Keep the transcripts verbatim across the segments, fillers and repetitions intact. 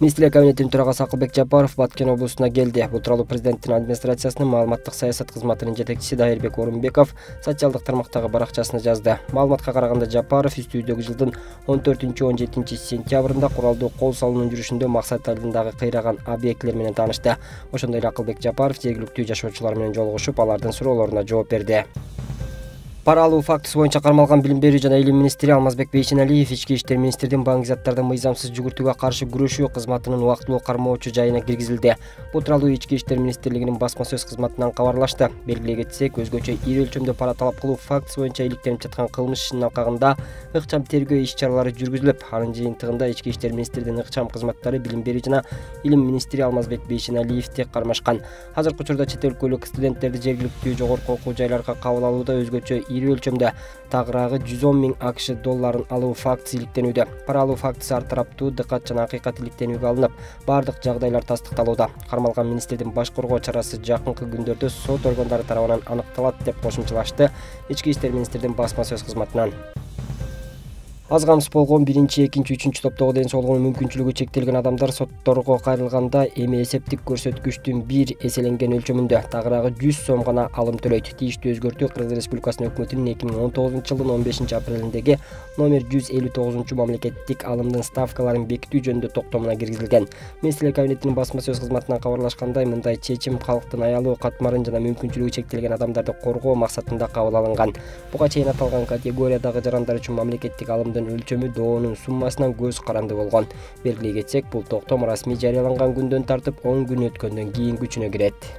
Министрлер кабинетинин төрагасы Акылбек Жапаров Баткен облусуна келди. Бул тууралуу президенттин администрациясынын маалыматтык саясат кызматынын жетекчиси Дайырбек Орунбеков социалдык тармактагы баракчасына жазды. Маалыматка караганда Жапаров үстүбүздөгү жылдын он төртүнчү он жетинчи сентябрында куралдуу кол салуунун жүрүшүндө Максат айылындагы кыйраган объектилер менен таанышты. Ошондой эле Акылбек Жапаров жергиликтүү жашоочулар менен жолугушуп, алардын суроолоруна жооп берди. Пара алуу фактысы боюнча кармалган Билим берүү жана илим министри Алмазбек Бейшеналиев ички иштер министрдин баңгизаттарды мыйзамсыз жүгүртүүгө каршы күрөшүү кызматынын убактылуу кармоочу жайына киргизилди. Бул тууралуу ички иштер министрлигинин басма сөз кызматынан кабарлашты. Белгилей кетсек, өзгөчө ири өлчөмдө пара талап кылуу фактысы боюнча иликтенип жаткан кылмыш ишинин алкагында ыкчам тергөө иш-чаралары жүргүзүлүп, анын жыйынтыгында ички иштер министрдин ыкчам кызматтары Билим берүү жана илим министри Алмазбек Бейшеналиевди кармашкан. Азыркы учурда чет өлкөлүк студенттерди жергиликтүү жогорку окуу жайларга кабыл алууда өзгөчө ири өлчөмдө тагыраагы жүз он миң АКШ долларын алуу фактысы иликтенүүдө. Пара алуу фактысы ар тараптуу дыкат жана акыйкат иликтенүүгө алынып, бардык жагдайлар тастыкталууда. Кармалган министрдин баш коргоо чарасы жакынкы күндөрдө сот органдары тарабынан аныкталат деп кошумчалашты ички иштер министрдин басма сөз кызматынан. Аз камсыз болгон биринчи, экинчи, үчүнчү топтогу ден соолугунун мүмкүнчүлүгү чектелген адамдар сотторго кайрылганда эми эсептик көрсөткүчтүн бир эселенген өлчөмүндө тагыраагы жүз сом гана алым төлөйт. Тийиштүү өзгөртүү Кыргыз Республикасынын өкмөтүнүн эки миң он тогузунчу жылдын он бешинчи апрелиндеги номер жүз элүү тогузунчу мамлекеттик алымдын ставкаларын бекитүү жөнүндө токтомуна киргизилген. Министрлер кабинетинин басма сөз кызматынан кабарлашкандай, мындай чечим калктын аялуу, катмарын жана мүмкүнчүлүгү чектелген адамдарды коргоо максатында кабыл алынган. Буга чейин аталган категориядагы жарандар үчүн мамлекеттик алымдын өлчөмү доонун суммасынан көз каранды болгон. Белгилей кетсек, бул токтом расмий жарыяланган күндөн тартып он күн өткөндөн кийин күчүнө кирет.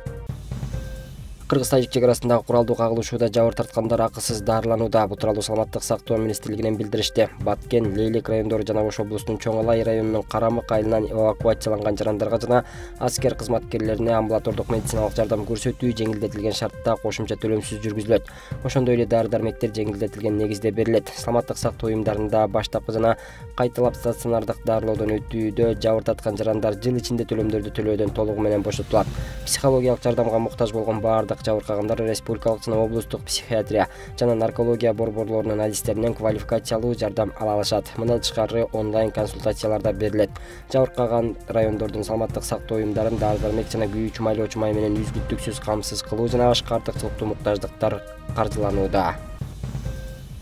Кыргыз-тажик чек арасындагы куралдуу кагылышууда жабыр тарткандар акысыз дарыланууда. Бул тууралуу Саламаттык сактоо министрлигинен билдиришти. Баткен, Лейлек райондору жана Ош облусунун Чоң Алай районунун Карамык айылынан эвакуацияланган жарандарга жана аскер кызматкерлерине амбулатордук медициналык жардам көрсөтүү жеңилдетилген шартта кошумча төлөмсүз жүргүзүлөт. Ошондой эле дары-дармектер жеңилдетилген негизде берилет. Саламаттык сактоо уюмдарында баштапкы жана кайталап стационардык дарылоодон өтүүдө жабыр тарткан жарандар жыл ичинде төлөмдөрдү төлөөдөн толугу менен бошотулат. Психологиялык жардамга муктаж болгон бардык жабыркагандар республикалык жана облустук психиатрия жана наркология борборлорунун адистеринен квалификациялуу жардам ала алышат. Мындан тышкары онлайн консультациялар да берилет. Жабыркаган райондордун саламаттык сактоо уюмдарын дары-дармек жана күйүүчү майлоочу май менен үзгүлтүксүз камсыз кылуу жана башка артыкчылыктуу муктаждыктар каржыланууда.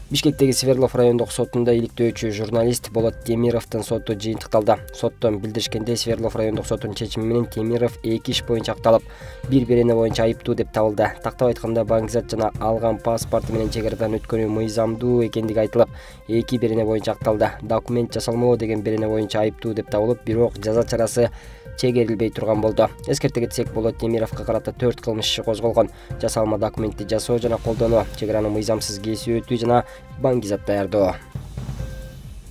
Бишкектеги Свердлов райондук сотунда иликтөөчү журналист Болот Темировдун соту жыйынтыкталды. Соттон билдиришкендей, Свердлов райондук сотунун чечими менен Темиров эки иш боюнча акталып, бир берене боюнча айыптуу деп табылды. Тактап айтканда, баңгизат жана алган паспорту менен чек арадан өткөнү мыйзамдуу экендиги айтылып, эки берене боюнча акталды. Документ жасалмоо деген берене боюнча айыптуу деп табылып, бирок жаза чарасы чегерилбей турган болду. Эскерте кетсек, Болот Темировго карата төрт кылмыш иши козголгон: жасалма документти жасоо жана колдонуу, чек араны мыйзамсыз кесип өтүү жана баңгизат даярдоо.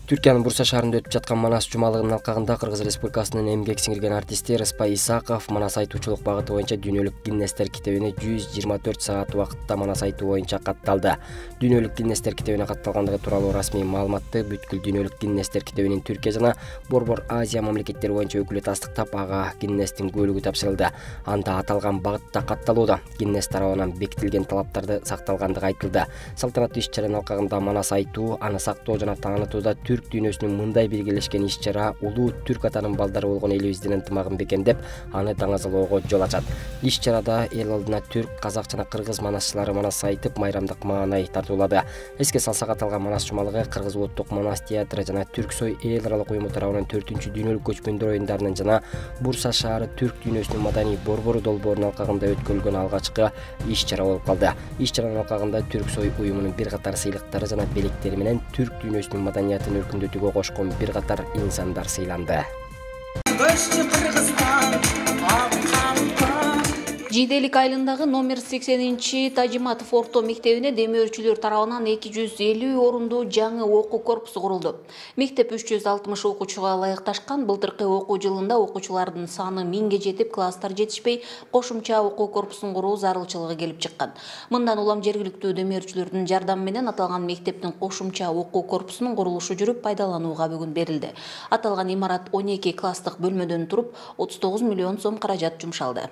Түркиянын Бурса шаарында өтүп жаткан Манас жумалыгынын алкагында Кыргыз Республикасынын эмгек сиңирген артисти Рыспай Исаков Манас айтуучулук багыты боюнча дүйнөлүк Гиннестер китебине жүз жыйырма төрт саат убакытта Манас айтуу боюнча катталды. Дүйнөлүк Гиннестер китебине катталгандыгы тууралуу расмий маалыматты бүткүл дүйнөлүк Гиннестер китебинин Түркия жана Борбор Азия мамлекеттери боюнча өкүлү тастыктап, ага Гиннестин куөлүгү тапшырылды. Анда аталган багытта катталууда Гиннес тарабынан бекитилген талаптарды сакталгандыгы айтылды. Салтанаттуу иш-чаранын алкагында Манас айтуу, аны сактоо жана таанытууда түрк дүйнөсүнүн мындай биргелешкен иш-чара улуу түрк атанын балдары болгон элибиздин ынтымагын бекемдеп, аны даңазалоого жол ачат. Иш-чарада эл алдына түрк, казак жана кыргыз манасчылары Манас айтып, майрамдык маанай тартуулады. Эске салсак, аталган Манас жумалыгы Кыргыз улуттук Манас театры жана Түрксой эл аралык уюму тарабынан төртүнчү дүйнөлүк көчмөндөр оюндарынын жана Бурса шаары түрк дүйнөсүнүн маданий борбору долбоорунун алкагында өткөрүлгөн алгачкы иш-чара болуп калды. Иш-чаранын алкагында Түрксой уюмунун бир катар сыйлыктары жана белектери менен түрк дүйнөсүнүн маданиятын өркүндөтүүгө кошкон бир катар инсандар сыйланды. Жиделик айылындагы номер сексенинчи Тажиматов орто мектебине демөөрчүлөр тарабынан эки жүз элүү орундуу жаңы окуу корпусу курулду. Мектеп үч жүз алтымыш окуучуга ылайыкташкан. Былтыркы окуу жылында окуучулардын саны миңге жетип, класстар жетишпей, кошумча окуу корпусун куруу зарылчылыгы келип чыккан. Мындан улам жергиликтүү демөөрчүлөрдүн жардамы менен аталган мектептин кошумча окуу корпусунун курулушу жүрүп, пайдаланууга бүгүн берилди. Аталган имарат он эки класстык бөлмөдөн туруп, отуз тогуз миллион сом каражат жумшалды.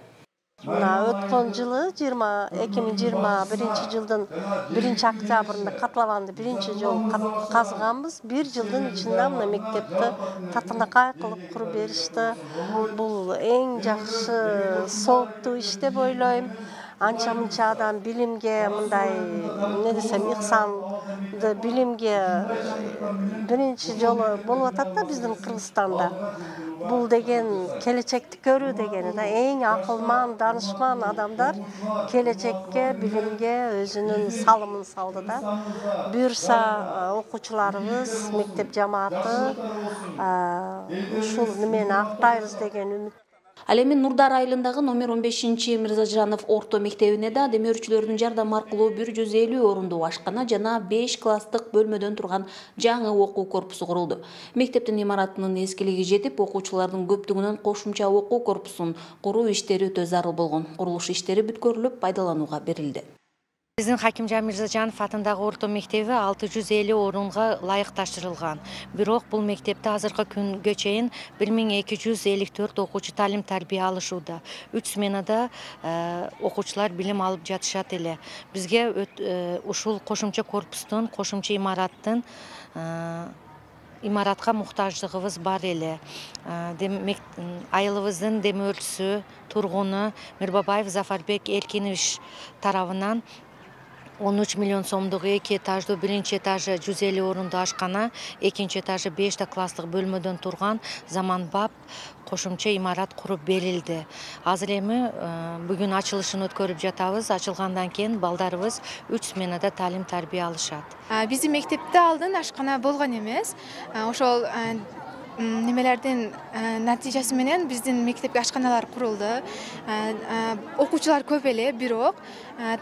Мына өткөн жылы эки миң жыйырма биринчи жылдын биринчи октябрында котлованды биринчи жолу казганбыз. Бир жылдын ичинде мына мектепти татынакай кылып куруп беришти. Бул эң жакшы сооптуу иш деп ойлойм. Анча мынча адам билимге мындай эмне десем ыксанды билимге биринчи жолу болуп атат да биздин Кыргызстанда. Бул деген келечекти көрүү дегени да, эң акылман, данышман адамдар келечекке, билимге өзүнүн салымын салды да. Буюрса окуучуларыбыз, мектеп жамааты ушул немени актайбыз деген үмүт. Ал эми Нурдар айылындагы номер он бешинчи Мырзажанов орто мектебине да демөөрчүлөрдүн жардамы аркылуу бир жүз элүү орундуу ашкана жана беш класстык бөлмөдөн турган жаңы окуу корпусу курулду. Мектептин имаратынын эскилиги жетип, окуучулардын көптүгүнөн кошумча окуу корпусун куруу иштери өтө зарыл болгон. Курулуш иштери бүткөрүлүп, пайдаланууга берилди. Биздин Хакимжан Мырзажанов атындагы орто мектеби алты жүз элүү орунга ылайыкташтырылган. Бирок бул мектепте азыркы күнгө чейин бир миң эки жүз элүү төрт окуучу талим тарбия алышууда. үч сменада окуучулар билим алып жатышат эле. Бизге ушул кошумча корпустун, кошумча имараттын имаратка муктаждыгыбыз бар эле. Айылыбыздын демөөрчүсү, тургуну Мирбабаев Зафарбек Эркинович тарабынан он үч миллион сомдук эки этаждуу биринчи этажы жүз элүү орундуу ашкана, экинчи этажы беш класстык бөлмөдөн турган заманбап кошумча имарат куруп берилди. Азыр эми бүгүн ачылышын өткөрүп жатабыз. Ачылгандан кийин балдарыбыз үч сменада талим тарбия алышат. Биздин мектепте алдын ашкана болгон эмес. Ошол немелердин натыйжасы менен биздин мектепке ашканалар курулду. Окуучулар көп эле, бирок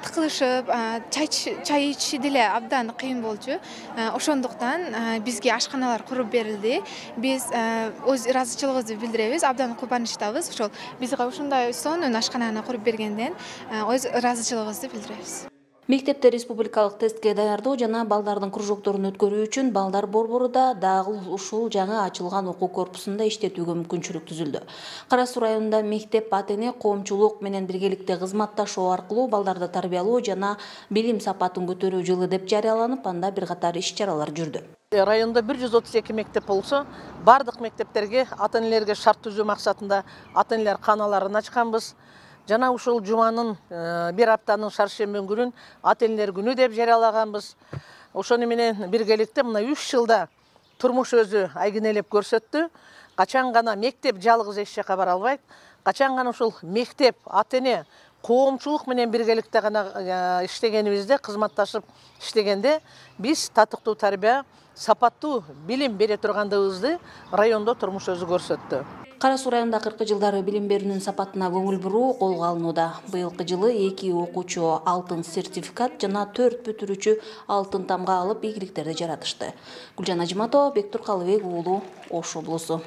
тыкылышып, чай ичиши деле абдан кыйын болчу. Ошондуктан бизге ашканалар куруп берилди. Биз өз ыраазычылыгыбызды билдиребиз, абдан кубанычтабыз. Ошол бизге ушундай сонун ашкананы куруп бергенден өз ыраазычылыгыбызды билдиребиз. Мектепте республикалык тестке даярдоо жана балдардын кружокторун өткөрүү үчүн балдар борбору да дагы ушул жаңы ачылган окуу корпусунда иштетүүгө мүмкүнчүлүк түзүлдү. Кара Суу районунда мектеп ата-эне коомчулук менен биргеликте кызматташуу аркылуу балдарды тарбиялоо жана билим сапатын көтөрүү жылы деп жарыяланып, анда бир катар иш-чаралар жүрдү. Районда бир жүз отуз эки мектеп болсо, бардык мектептерге ата-энелерге шарт түзүү максатында ата-энелер каналарын ачканбыз. Жана ушул жуманын бир аптанын шаршемби күнүн ата-энелер күнү деп жарыялаганбыз. Ошону менен биргеликте мына үч жылда турмуш өзү айгинелеп көрсөттү. Качан гана мектеп жалгыз эч жака бара албайт. Качан гана ушул мектеп, ата-эне, коомчулук менен биргеликте гана иштегенибизде, кызматташып иштегенде биз татыктуу тарбия, сапаттуу билим бере тургандыгыбызды райондо турмуш өзү көрсөттү. Кара Суу районунда акыркы жылдары билим берүүнүн сапатына көңүл буруу колго алынууда. Быйылкы жылы эки окуучу алтын сертификат жана төрт бүтүрүүчү алтын тамга алып ийгиликтерди жаратышты. Гүлжан Ажиматова, Бектур Калыбек уулу, Ош облусу.